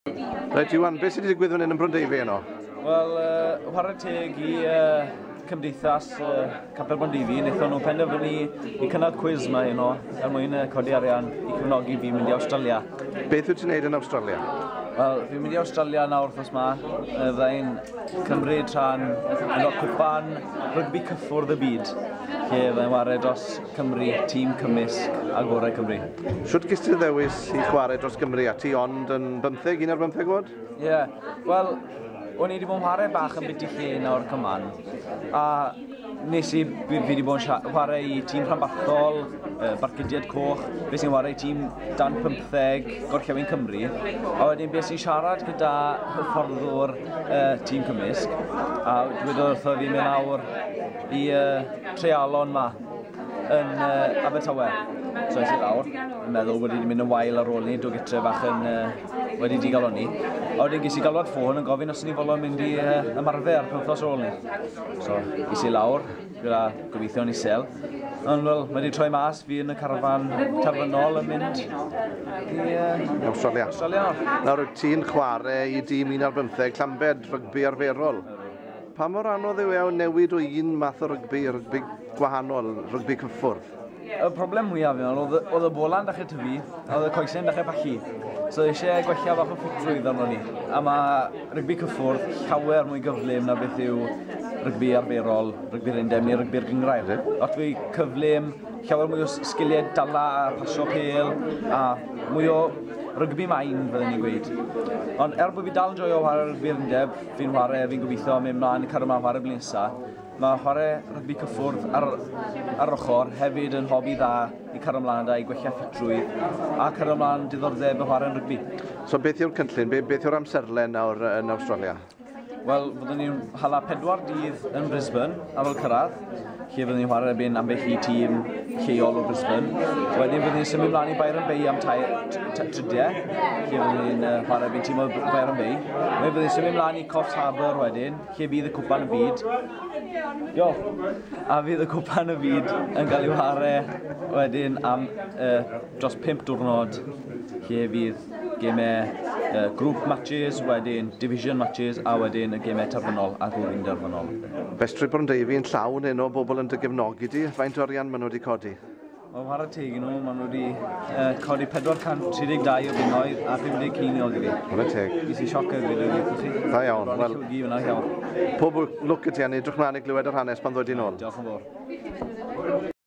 Reit, Iwan, beth sydd wedi digwydd fan hyn yn Brondeifi heno? Wel, chwarae teg i Cymdeithas Capel Brondeifi, wnaethon nhw penderfynu i cynnal cwiz yma heno er mwyn codi arian i cefnogi fi mynd i Awstralia. Beth wyt ti'n neud yn Awstralia? Wel, fi'n mynd i Awstralia nawr wythnos 'ma. Fydda i'n cymryd rhan yn y cwpan rygbi cyffwrdd y byd, lle fydda i'n ware dros Cymru, tîm cymysg a gorau Cymru. Shwt ges ti dy ddewis i chwarae dros Gymru a ti ond yn bymtheg, un ar bymtheg oed? Ie, yeah. Wel, o'n i wedi bod yn chwarae bach yn biti lle nawr cyman, a nes i, fi wedi bod yn chwarae i tîm rhanbarthol, Barcudiad Coch, fe sy'n chwarae i tîm dan 15 Gorllewin Cymru, a wedyn beth sy'n siarad gyda hyfforddwr tîm cymysg, a dwedodd wrtho fi mynd lawr i treialon ma yn Abertawe. So es i lawr, yn meddwl wedi mynd yn wael ar ôl ni, dod gytre bach yn wedi digalonni. A wedyn ges i galwad ffôn yn gofyn os o'n i'n fodlon mynd i ymarfer penwythnos ar ôl ni. So es i lawr, gyda gobeithio'n isel. Ond wel, mae wedi troi mas, fi yn y carfan terfynol yn mynd i Australia. Australia. Nawr, wyt ti'n chwarae i dîm 1 ar 15, Llambed, rygbi arferol. Pa mor anodd yw e o newid o un math o rygbi i rygbi gwahanol, rygbi cyffwrdd? Y broblem mwyaf fi'n meddwl, oedd y bola'n dechrau tyfu, a oedd y coesau'n dechrau pallu. So oedd eisiau gwella bach o ffitrwydd arno ni. A mae rygbi cyffwrdd llawer mwy gyflym na beth yw rygbi arferol, rygbi'r undeb neu rygbi'r gynghrair. Lot fwy cyflym, llawer mwy o sgiliau dala a pasio pêl, a mwy o rygbi mind fydden ni'n gweud. Ond er bod fi dal yn joio chwarae rygbi'r undeb, fi'n chwarae, fi'n gobeithio mynd mlaen i cario mlaen chwarae blwyddyn nesaf. Mae chwarae rygbi cyffwrdd ar ochr hefyd yn hobi dda i cario mlaen da, i gwella ffitrwydd a cario mlaen diddordeb y chwarae'n rygbi. So beth yw'r cynllun, beth yw'r amserlen nawr yn Awstralia? Wel, fyddwn ni'n hala 4 dydd yn Brisbane ar ôl cyrraedd, lle fyddwn ni'n chwarae erbyn ambell i tîm lleol o Brisbane. Wedyn fyddwn ni'n symud mlaen i Byron Bay am tridiau, lle fyddwn ni'n chwarae erbyn tîm o Byron Bay. Wedyn fyddwn ni'n symud mlaen i Coffs Harbour wedyn, lle fydd y cwpan y byd. Diolch. A fydd y cwpan y byd yn cael ei whare wedyn am dros 5 diwrnod, lle fydd gemau group matches, wedyn division matches, a wedyn y gemau terfynol a gŵr derfynol. Festri Brondeifi yn llawn heno o bobl yn dy gefnogi di. Faint o arian maen nhw wedi codi? Wel, chwarae teg i nhw, maen nhw wedi codi 432 o bunnoedd a 50 ceiniog i fi. Chwarae teg. Ges i sioc hefyd, dwi'n gweud chi. Da iawn. Bron i Wel, llwgu fyna, iawn. Pob lwc i ti, a ni edrych mlaen i glywed yr hanes pan ddod i'n ôl. Diolch yn fawr.